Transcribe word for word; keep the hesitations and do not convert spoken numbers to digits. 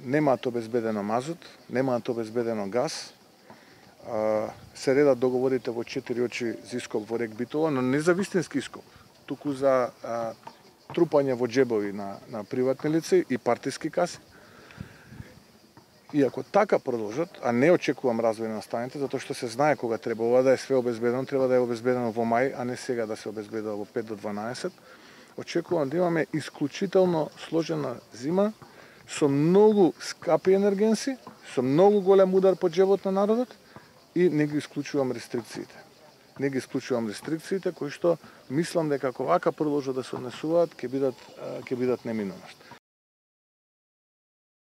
немаат обезбедено мазут, немаат обезбедено газ, се редат договорите во четири очи за ископ во Рек Битола, но не за вистински ископ, туку за а, трупање во џебови на, на приватни лица и партиски каси. И ако така продолжат, а не очекувам развој на станите, затоа што се знае кога треба ова да е све обезбедено, треба да е обезбедено во мај, а не сега да се обезбедува во пет до дванаесет, очекувам да имаме исклучително сложена зима, со многу скапи енергенси, со многу голем удар по џебот на народот и не ги исклучувам рестрикциите. Не ги исклучувам рестрикциите кои што мислам дека ако вака продолжат да се однесуваат, ќе бидат ќе бидат неминуваат.